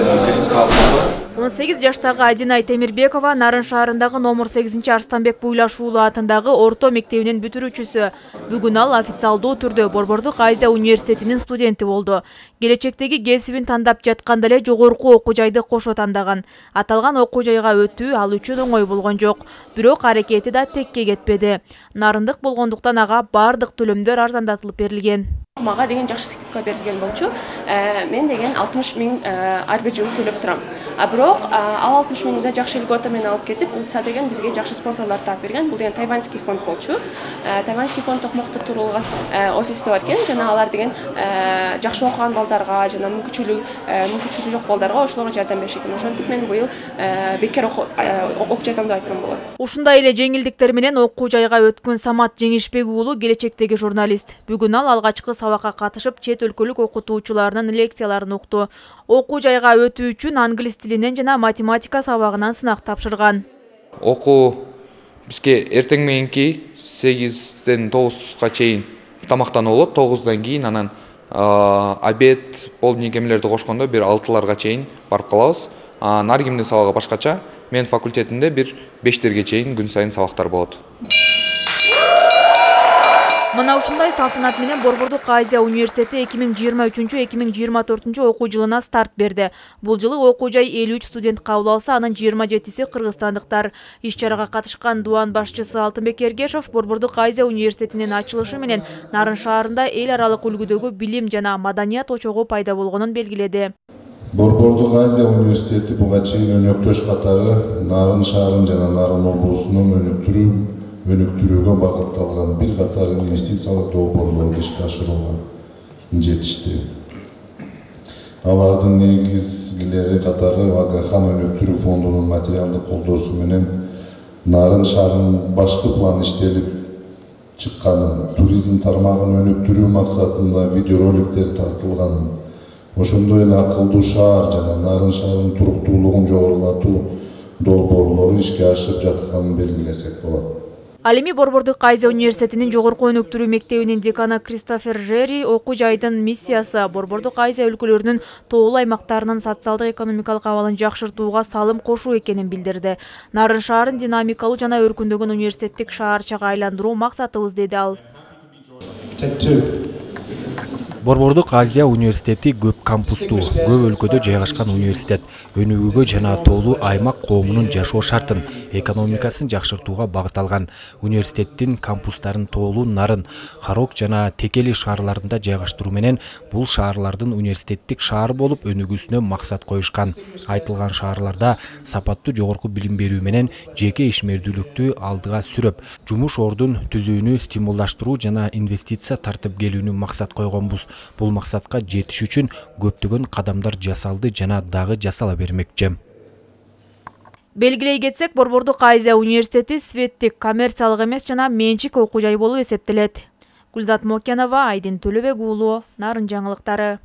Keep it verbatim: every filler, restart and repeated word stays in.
биринчи сабак болду. он сегиз жаштагы Адинай Темирбекова Нарын шаарындагы номер сегизинчи Арстанбек Буйлаш уулу атындагы орто мектебинин бүтүрүүчүсү. Бүгүн ал официалдуу түрдө Борбордук Азия университетинин студенти болду. Келечектеги кесибин тандап жатканда эле жогорку окуу жайды кошо тандаган. Аталган окуу жайга өтүү ал үчүн оңой болгон жок. Бирок аракети да текке кетпеди. Нарындык болгондуктан ага бардык төлөмдөр арзандатылып берилген. Мага деген жакшы скидка берилген болчу. Мен деген алтымыш миң ар бир жылы төлөп турам. А бирок ал алтымыш миңди жакшы льгота менен алып кетип, УЦА деген бизге жакшы спонсорлор таап берген. Бул деген тайваньский фонд болчу. Тайваньский фонд Токмокто турулган офисте бар экен. Жана алар деген жакшы окуган балдарга, жана мүмкүнчүлүгү мүмкүнчүлүгү жок балдарга ошолорго жардам беришет экен. Ошентип мен быйыл бекер окуп жатам деп айтсам болот. Ушундай эле жеңилдиктер менен окуу жайга өткөн Самат Жеңишбек уулу келечектеги журналист. Бүгүн ал алгачкы сабакка катышып, чет өлкөлүк окутуучулардын лекцияларын укту. Окуу жайга өтүү үчүн англис тилинен жана математика сабагынан сынак тапшырган. Окуу бизге эртең мененки сегизден тогузга чейин тамактануу болот. тогуздан кийин анан обед, полдник эмелерди кошкондо бир алтыларга чейин барып калабыз. Наргимдин сабагы башкача. Мен факультетинде бир бештерге чейин күн сайын сабактар болот. Мына ушундай салтанат менен Борбордук Азия университети эки миң жыйырма үчүнчү эки миң жыйырма төртүнчү окуу жылына старт берди. Бул жылы окуу жай элүү үч студент кабыл алса, анын жыйырма жетиси кыргызстандыктар. Иш-чарага катышкан дуан башчысы Алтынбек Эргешов Борбордук Азия университетинин ачылышы менен Нарын шаарында эл аралык үлгүдөгү билим жана маданият очогу пайда болгонун белгиледи. Борбордук Азия университети буга чейин өнөктөш катары Нарын шаарын жана Нарын облусунун өнүктүрүү өнүктүрүүгө багытталган бир катар инвестициялык долбоорлорду ишке ашырууга жетишти. Алардын негизгилери катары Агахан өнүктүрүү фондунун материалдык колдоосу менен Нарын шаарынын башкы планы иштелип чыкканын, туризм тармагын өнүктүрүү максатында видеороликтер тартылганын, ошондой эле акылдуу шаар жана Нарын шаарынын туруктуулугун жогорулатуу долбоорлору ишке ашып жатканын белгилесек болот. Ал эми Борбордук Азия университетинин жогорку өнүктүрүү мектебинин деканы Кристофер Жерри окуу жайдын миссиясы Борбордук Азия өлкөлөрүнүн тоолуу аймактарынын социалдык экономикалык абалын жакшыртууга салым кошуу экенин билдирди. Нарын шаарын динамикалуу жана өркүндөгөн университеттик шаарчага айландыруу максатыбыз, деди ал. Борбордук Азия университети көп кампустуу, көп өлкөдө жайгашкан университет. Өнүгүүгө жана тоолуу аймак коомунун жашоо шартын, экономикасын жакшыртууга багытталган. Университеттин кампустарын тоолуу Нарын, Харок жана Текели шаарларында жайгаштыруу менен бул шаарлардын университеттик шаар болуп өнүгүүсүнө максат коюшкан. Айтылган шаарларда сапаттуу жогорку билим берүү менен жеке ишмердүүлүктү алдыга сүрөп, жумуш ордун түзүүнү стимулдаштыруу жана инвестиция тартып келүүнү максат койгонбуз. Бул максатка жетиш үчүн көптөгөн кадамдар жасалды жана дагы жасала бермекчи. Белгилей кетсек, Борбордук Азия университети светтик, коммерциялык эмес жана менчик окуу жай болуп эсептелет. Гүлзат Мокенова, Айдин Төлөбек уулу, Нарын жаңылыктары.